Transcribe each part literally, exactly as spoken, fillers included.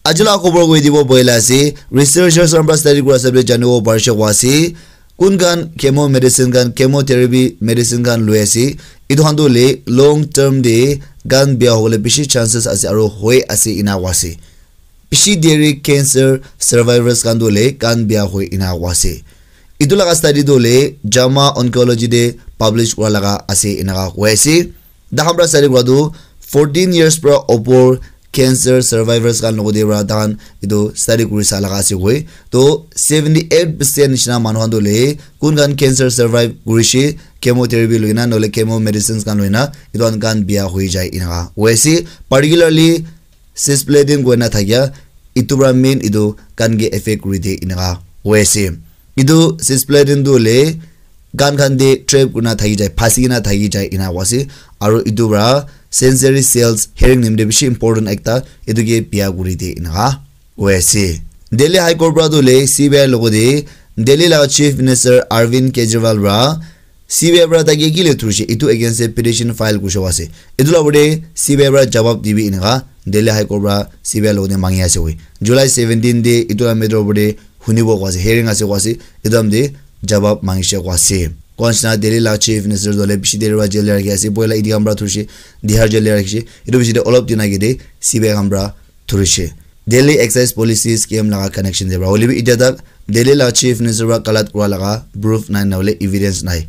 Aji la khobor koi dibo boila ase, researchers khan pra study kura hisab de janibo parishe koa ase, kun khan chemo medicine khan, chemotherapy medicine khan loi ase, etu khan tu hoile long term de gan bia hobole bishi chances ase aro hoi ase ena koa ase. Bishi deri cancer survivors khan tu hoile gan bia hoi ena koa ase. Etu laga study tu hoile JAMA Oncology de publish kura laga ase ena koa ase. Takhan pra study kura tu fourteen years pra opor cancer survivors khan logode pra takhan etu study kuri sa laga ase koi. To seventy eight percent nishina manu khan tu hoile kun khan cancer survive kurishe, chemotherapy loina nohole chemo medicines khan loina etu khan gan bia hoi jai enaka hoi ase. Particularly cisplatin koina thakia etu pra main etu gan ke affect kuri de enaka hoi ase. Etu cisplatin tu hoile gan khan de trap kurina thaki jai, phasi kena thaki jai ena koa ase. Aro etu pra sensory cells, hearing nimide bishi important ekta, etu ke bia kuri de enaka hoi ase. Delhi High Court pra tu hoile C B I logode Delhi laga Chief Minister Arvind Kejriwal pra C B I pra taike kile thurishe, etu against de petition file kurishe koa ase. Etu la opor de C B I pra jawab dibi enaka Delhi High Court pra C B I logode mangi ase koi. July seventeen de etu la matter opor de hunibo koa ase, hearing ase koa ase, etu time de jawab mangishe koa ase. Koa nishina Delhi la Chief Minister tu hoile bishi deri pra jail de rakhi ase, poila E D khan pra thurishe, Tihar jail de rakhishe, etu bishi de olop din age de C B I khan pra thurishe. Delhi excise policy scam laga connection de pra hoile bi etia tak Delhi la Chief Minister pra galat kura laga proof nai, na hoile evidence nai.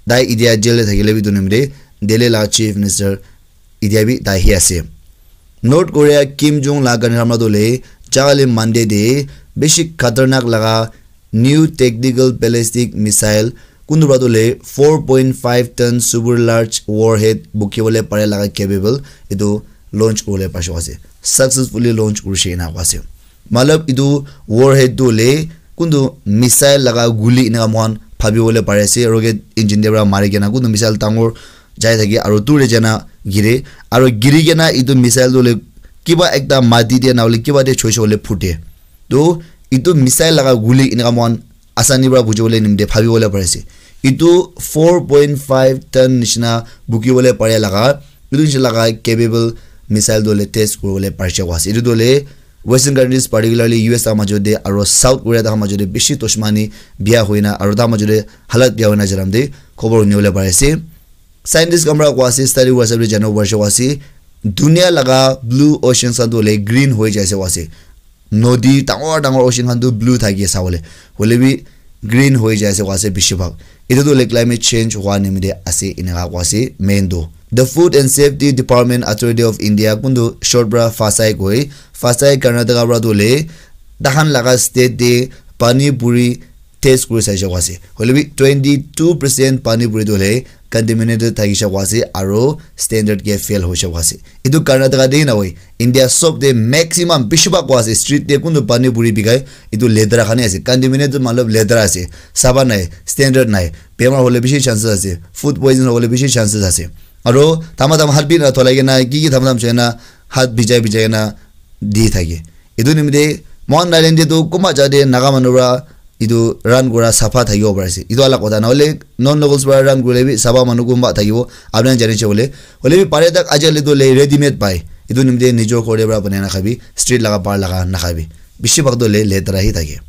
Tai etia jail de thakile bi etu nimide Delhi la Chief Minister etia bi tai hi ase. North Korea Kim Jong la gani hamla tu hoile jali Monday de bishi khatarnak laga new tactical ballistic missile kuntu pra tu hoile four point five ton super large warhead buki bole pare laga capable etu launch kuri bole parishe koa ase. Successfully launch kurishe ena koa ase. Matlab etu warhead tu hoile kuntu missile laga guli enaka moikhan bhabi bole pari ase, rocket engine de pra mari kena kuntu missile dangor jai thake aro dur de jana gire, aro giri kena etu missile tu hoile kiba ekta mati de na hoile kiba de choishe hoile phute. To etu missile laga guli enaka moikhan asani pra buji bole nimide bhabi bole pari ase. Etu four point five ton nishina buki bole pare laga, etu nishina laga capable missile tu hoile test kuri bole parishe koa ase. Etu tu hoile Western countries, particularly U S ta majo de aro South Korea ta majo de bishi dushmani bia hoina aro ta majo de halat bia hoina jaram de khobor huni bole pari ase. Scientist khan pra koa ase, study kura hisab de janibo parishe koa ase, dunia laga blue ocean khan tu hoile green hoi jai ase koa ase. Nodi dangor dangor ocean khan tu blue thaki ase sabole, hoile bi green hoi jai ase koa ase bishi bhag. Etu tu hoile climate change hua nimide ase enaka koa ase main tu. The Food and Safety Department Authority of India kuntu short pra FSSAI koi, FSSAI Karnataka pra tu hoile takhan laga state de pani puri test kuri saishe koa ase. Hoile bi twenty two percent pani puri tu hoile contaminated thakishe koa ase aro standard ke fail hoishe koa ase. Etu Karnataka de na hoi, India sob de maximum bishi bhag koa ase, street de kuntu pani puri bikai, etu letera khan he ase. Contaminated matlab letera ase, safa nai, standard nai, bemar hole bishi chances ase, food poison hole bishi chances ase. Aro thama thama hat bi na tholai kena, ki ki thama thama chena hat bijai bijai kena di thake. Etu nimide moikhan island de tu kunba jaga de Naga manu pra etu run kura safa thakibo pari ase. Etu alak kotha, na hoile non locals pra run kurile bi safa manu kunba thakibo, apni khan jani she hoile. Hoile bi pare tak ajikali tu hoile ready made pai. Etu nimide nijor ghor de pra banai na khabi, street laga bahar laga na khabi. Bishi bhag tu hoile letera hi thake.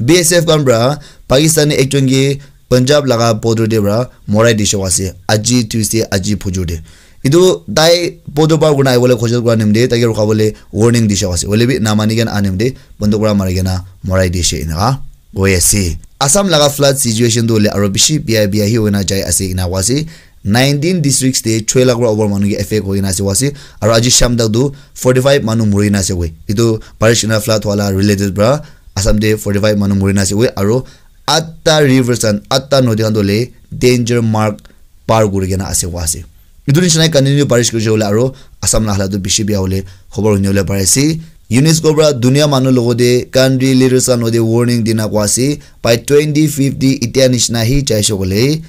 B S F khan pra Pakistani ekjon ke Punjab laga border de pra morai dishe koa ase, aji Tuesday, aji phujur de. Etu tai border par kurina ahibole khojol kura nimide taike rukha bole warning dishe koa ase. Hoile bi namani kena aha nimide banduk pra mari kena morai dishe enaka hoi ase. Assam laga flood situation tu hoile aro bishi bia bia hi hoina jai ase ena koa ase. Nineteen districts de choi lakh pra over manu ke affect hoi kena ase koa ase. Aro aji sham tak tu forty five manu muri kena ase koi. Etu barish ena flood wala related pra Assam de forty five manu muri kena ase koi. Aro atta rivers khan, atta nodi khan tu hoile danger mark par kuri kena ase koa ase. Etu nishina continue barish kurishe hoile aro Assam la halat tu bishi bia hole khobor huni bole pari ase. UNESCO pra dunia manu logode country leaders khan logode warning dina koa ase. By twenty fifty etia nishina hi jaishe hoile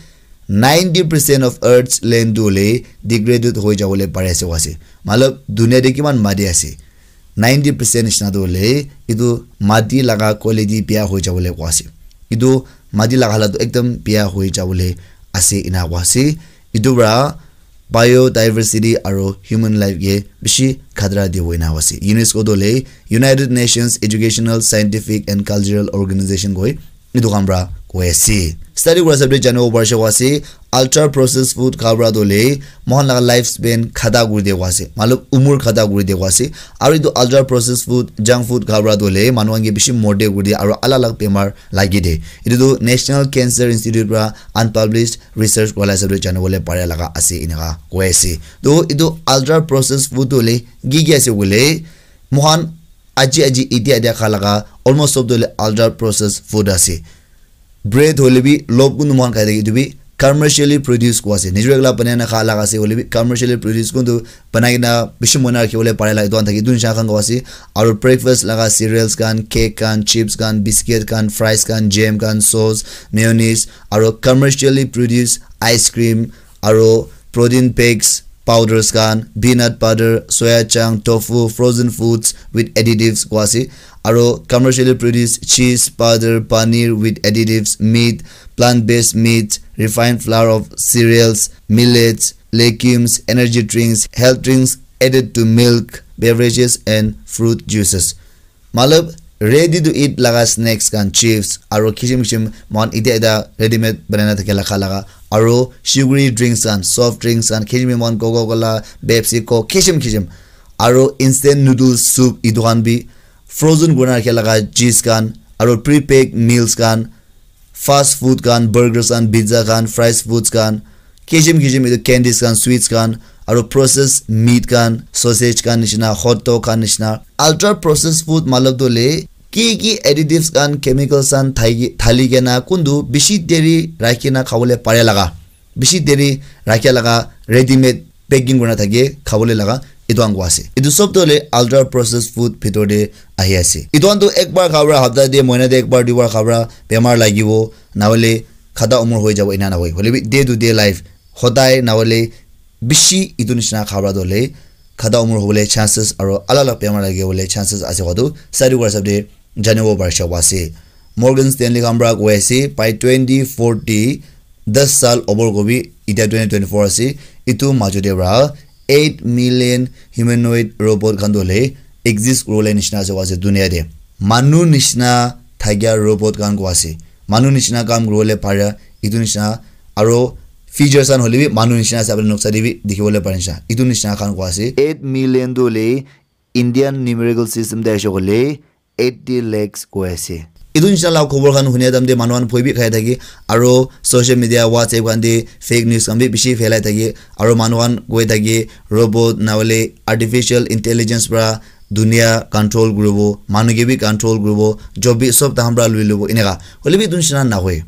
ninety percent of Earth's land tu hoile degraded hoi jabole pari ase koa ase. Matlab dunia de kiman mati ase, ninety percent nishina tu hoile etu mati laga quality bia hoi jabole koa ase. Etu mati laga halat tu ekdum bia hoi jabole ase ena koa ase. Etu pra biodiversity aro human life ke bishi khatra dibo ena ase. UNESCO tu hoile United Nations Educational, Scientific and Cultural Organization koi etu khan pra koi ase. Study kura hisab te janibo parishe koa ase, ultra processed food kha pra tu hoile moikhan laga life span khata kuri diya koa ase, matlab umur khata kuri diya koa ase. Aro etu ultra processed food, junk food kha pra tu hoile manu khan ke bishi morde kuri diye aro alag alag bemar lagi de. Etu tu National Cancer Institute pra unpublished research kura la hisab te janibole pare laga ase, eneka koi ase. To etu ultra processed food tu hoile ki ki ase koile, moikhan aji aji etia etia kha laga almost sob tu hoile ultra processed food ase. Bread hoile bi lob kuntu moikhan khai thaki, etu bi commercially produced koi ase. Nijor ekla banai na kha laga ase hoile bi commercially produced kuntu banai kena bishi moina rakhi bole pare la etu khan thaki, etu nisha khan koi ase. Aro breakfast laga cereals khan, cake khan, chips khan, biscuit khan, fries khan, jam khan, sauce, mayonnaise, aro commercially produced ice cream, aro protein bakes, powders khan, peanut butter, soya chunk, tofu, frozen foods with additives koi ase. Aro commercially produced cheese, butter, paneer with additives, meat, plant-based meats, refined flour of cereals, millets, legumes, energy drinks, health drinks added to milk, beverages and fruit juices. Matlab, ready to eat laga snacks khan, chips, aro kishim kishim moikhan etia etia ready made banai na thake laga kha laga, aro sugary drinks khan, soft drinks khan, kishim moikhan Coca Cola, Pepsi, Coke, kishim kishim, aro instant noodles soup, etu khan bi frozen kurina rakhi laga juice khan, aro pre-packed meals khan, fast food khan, burgers khan, pizza khan, fries foods khan, kishim kishim etu candies khan, sweets khan, aro processed meat khan, sausage khan nishina, hot dog khan nishina. Ultra processed food matlab tu hoile ki ki additives khan, chemicals khan thai-, thali kena kuntu bishi deri rakhi kena khabole pare laga, bishi deri rakhi laga ready made packing kurina thake khabole laga, etu khan koi ase. Etu sob tu hoile ultra processed food bhitor te ahi ase. Etu khan tu ekbar kha pra, hapta te, mohina te ekbar duibar kha pra bemar lagibo, na hoile khata umur hoi jabo, ena na hoi. Hoile bi day to day life, hodai na hoile bishi etu nishina kha pra tu hoile khata umur hobole chances aro alag alag bemar lagibole chances ase koa tu study kura hisab te janibo parishe koa ase. Morgan Stanley khan pra koi ase, by twenty forty, das saal opor kobi, etia twenty twenty-four ase, etu majo te pra eight million humanoid robot khan tu hoile exist kuribole nishina ase koa ase dunia te. Manu nishina thakia robot khan koi ase. Manu nishina kam kuribole para, etu nishina, aro features khan hoile bi manu nishina ase, apni noksa te bi dikhibole pare nishina. Etu nishina khan koi ase. Eight million tu hoile Indian numerical system te aise koile eighty lakhs koi ase. Etu nishina la khobor khan hunia time te manu khan bhoi bi khai thake, aro social media, WhatsApp khan te fake news khan bi bishi phelai thake, aro manu khan koi thake robot na hoile artificial intelligence pra dunia control kuribo, manu ke bi control kuribo, job bi sob tahan pra lui lobo, eneka. Hoile bi etu nishina nahoi.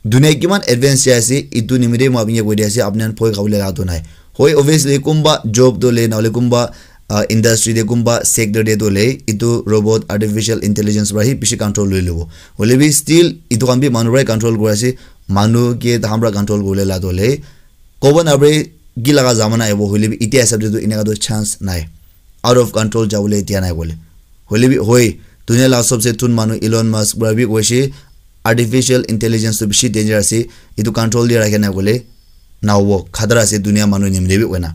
Dunia kiman advance jai ase, etu nimite moi apni ke koi di ase, apni khan bhoi khabole laga tu nai. Hoi, obviously, kumba job tu hoile, na hoile kumba, ah, industry te, kumba sector te tu hoile, etu robot, artificial intelligence pra hi bishi control lui lobo. Hoile bi still, etu khan bi manu pra control kuri ase, manu ke tahan pra control kuribole la tu hoile, kobo na pare, ki laga zamana ahibo, hoile bi etia hisab te tu eneka tu chance nai. Out of control jabole dia nai bole. Hoile bi hoi, dunia la sobse thun manu Elon Musk pra bi koise, artificial intelligence tu bishi danger ase, etu control dia rakha nai bole, na hobo, khatara ase dunia manu nimite bi koina.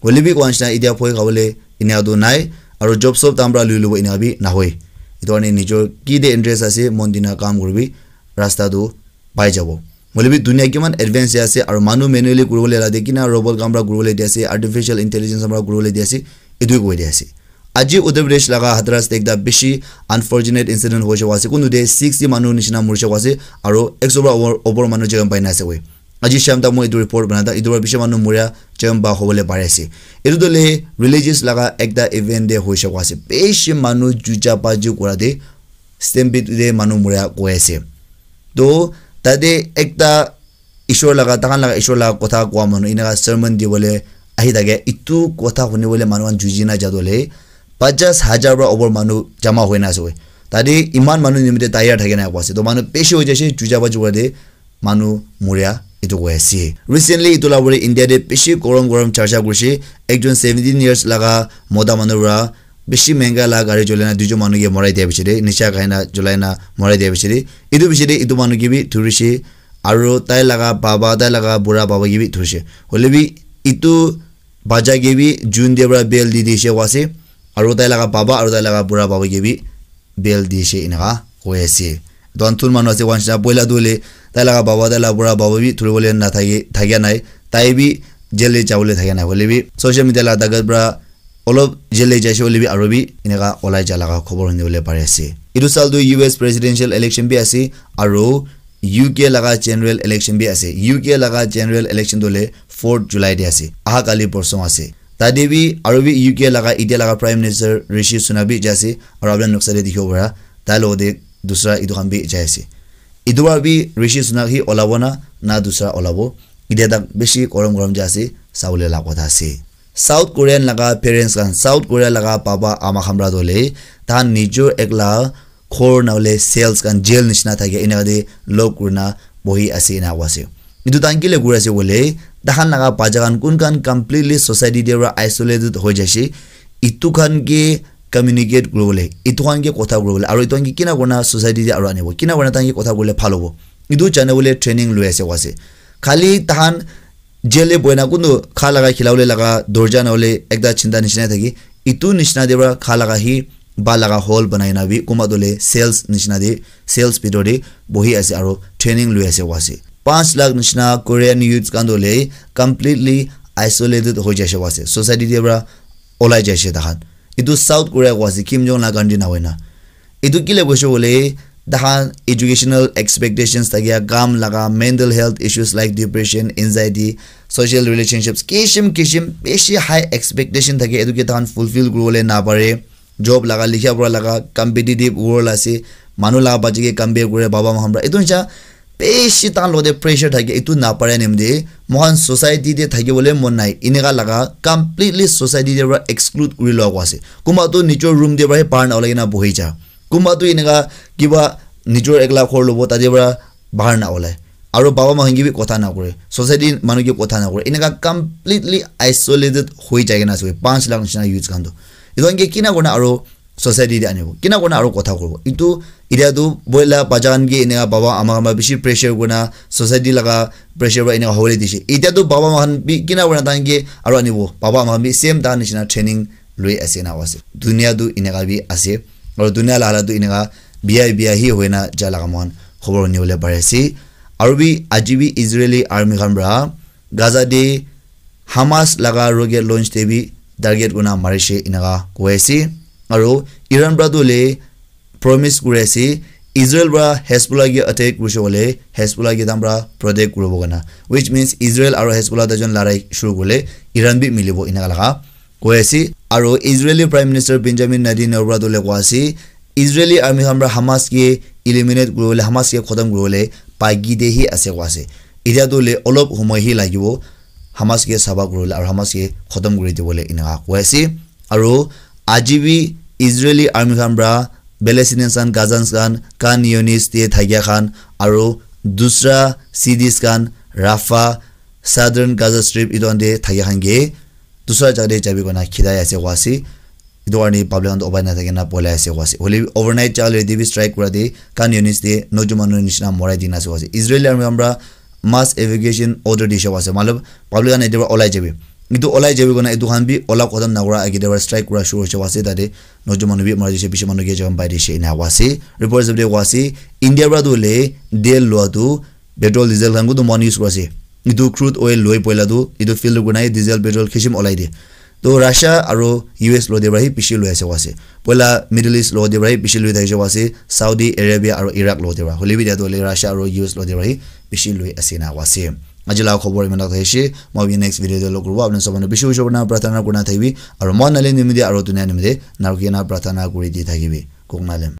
Hoile bi koa nishina etia bhoi khabole eneka tu nai, aro job sob tahan pra lui lobo eneka bi nahoi. Etu karne nijor ki te interest ase, mon dina kam kuribi, rasta tu pai jabo. Hoile bi dunia kiman advance jai ase, aro manu manually kuribole la de kina robot khan pra kuribole di ase, artificial intelligence khan pra kuribole di ase, etu koi di ase. Aji Uttar Pradesh laga Hathras te ekta bishi unfortunate incident hoise koa ase. Kuntu te sixty manu nishina murise koa ase, aro ekso pra opor, opor manu jai kena pai na ase koi. Aji sham tak moi etu report bana tak, etu pra bishi manu muria jai kena pa hobole pari ase. Etu tu hoile religious laga ekta event te hoise koa ase. Bishi manu juja baji kura te, stampede te manu muria koi ase. To tate ekta Ishwar laga, tahan laga Ishwar laga kotha koa manu, eneka sermon dibole ahi thake, etu kotha hunibole manu khan juji na jabo le, pachash hajar pra opor manu jama hoi na ase koi. Tate iman manu nimite tayar thake na koa ase. To manu bishi hoi jaise, juja baji kura te manu muria etu koi ase. Recently, etu la pore India te bishi gorom gorom charcha kurise. Ekjon seventeen years laga mota manu pra bishi mehenga la gari cholai na duijon manu ke morai dia piche te, nisha khai na cholai na morai dia piche te, etu piche te etu manu ke bi dhurise, aro tai laga baba, tai laga bura baba ke bi dhurise. Hoile bi Itu bacha ke bi June te para bail di dishe koa ase, aru tai laga baba aru tai laga bura baba ke bi bail dishe eneka koi ase. Etu khan thun manu ase koa nishina, poila tu hoile tai laga baba, tai laga bura baba bi thuribole nathaki, thakia nai, tai bi jail te jabole thakia nai, hoile bi social media laga takat para olop jail te jaise hoile bi aru bi eneka olai ja laga khobor huni bole pari ase. Etu saal tu U S presidential election bi ase aru U K laga general election bi ase. U K laga general election tu hoile fourth July te ase. Aha kali porsong ase. Tate bi aru bi U K laga etia laga Prime Minister Rishi Sunak bi jai ase. Aru apni khan noksa te dikhibo para tai logote dusra etu khan bi jai ase. Etu para bi Rishi Sunak hi olabo na, na dusra olabo. Etia tak bishi gorom gorom jai ase, sabole la kotha ase. South Korean laga parents khan, South Korea laga baba ama khan para tu hoile, tahan nijor ekla ghor na hoile cells khan jail nishina thake, eneka te lock kurina bohi ase, ena koi ase. Etu tahan kile kuri ase koile, tahan laga bacha khan kun khan completely society te para isolated hoi jaise, etu khan ke communicate kuribole, etu khan ke kotha kuribole, aru etu khan ke kina kurina society te aru anibo, kina kurina tahan ke kotha kuribole bhal hobo. Etu jane bole training loi ase koi ase. Khali tahan jail te bohi na kuntu kha laga khilabole laga dorja na hoile ekta chinta nishina thaki, etu nishina te para kha laga hi ba laga hall banai na bi kunba tu hoile cells nishina te, cells bitor te bohi ase aru training loi ase koi ase. Panch lakh nishina Korean youths khan tu hoile completely isolated hoi jaise koi ase, society te para olai jaise tahan. Etu South Korea koi ase, Kim Jong laga country na hoina. Etu kile koise koile, tahan educational expectations thakia, kam laga, mental health issues like depression, anxiety, social relationships, kishim kishim bishi high expectation thake, etu ke tahan fulfill kuribole na pare. Job laga, likha pura laga, competitive world ase, manu laga bachi ke compare kure, baba ma khan para. Etu nisha bishi tahan logote pressure thake, etu na pare nimite moikhan society te thakibole mon nai, eneka laga completely society te para exclude kuri loa koi ase. Kunba tu nijor room te para he bahar na olai kena bohi ja. Kunba tu eneka kiba nijor ekla ghor lobo, tate para bahar na olai. Aru baba ma khan ke bi kotha na kure. Society manu ke kotha na kure. Eneka completely isolated hoi jai kena ase. Panch lakh nishina youths khan tu. Etu khan ke kina kurina aru society te anibo. Kina kurina aru kotha kuribo. Etu etia tu boila bacha khan ke eneka baba ama khan para bishi pressure kurina society laga pressure para eneka hobole dishe. Etia tu baba ma khan bi kina kurina tahan ke aru anibo. Baba ama khan bi same tahan nishina training loi ase na ase. Dunia tu eneka bi ase. Aru dunia la halat tu eneka biya biya hi hoina ja laga moikhan khobor huni bole pari ase. Aru bi aji bi Israeli army khan para Gaza te Hamas laga rocket launch te bi target kurina marishe eneka koi ase. Aru Iran para tu hoile promise kuri ase, Israel para Hezbollah ke attack kurise koile Hezbollah ke tahan para protect kuribo karna, which means Israel aru Hezbollah duijon larai shuru korile Iran bi milibo eneka laga koi ase. Aru Israeli Prime Minister Benjamin Netanyahu para tu hoile koi ase, Israeli army khan para Hamas ke eliminate kuribole, Hamas ke khotom kuribole baki te hi ase koi ase. Etia tu hoile olop somoi hi lagibo Hamas ke sabha kuribole aru Hamas ke khotom kuri dibole eneka koi ase. Aru aji bi Israeli army khan para Palestinians khan, Gazans khan, Khan Younis te thakia khan aru dusra cities khan, Rafah, Southern Gaza Strip etu khan te thakia khan ke dusra jaga te jabi koina khidai ase koi ase. Etu karne public khan toh upai nathaki na polai ase koi ase. Hoile bi overnight jale te bi strike kura te Khan Younis te nojo manu nishina morai dina ase koi ase. Israeli army khan para mass evacuation order dishe koi ase. Matlab public khan yate para olai jabi. Etu olai jabi koina etu khan bi ola khotom nakura agey te para strike kura shuru hoise koi ase, tate nojo manu bi mari jaise, bishi manu ke jam pai jaise ena koi ase. Report hisab te koi ase India para tu hoile tel lua tu petrol diesel khan kutu moikhan use kuri ase. Etu crude oil loi poila tu etu fill kurina diesel petrol kishim olai de. To Russia aru U S logote para hi bishi loi ase koi ase. Poila Middle East logote para hi bishi loi thakishe koi ase. Saudi Arabia aru Iraq logote para. Hoile bi etia tu hoile Russia aru U S logote para hi bishi loi ase ena koi ase. Aji laga khobor iman tak thakishi. Moi bi next video te log kuribo. Apni sob manu bishi bishi kurina prarthana kurina thakibi. Aru moi nale nimite aru dunia nimite narukina prarthana kuri di thakibi. Kok nalem.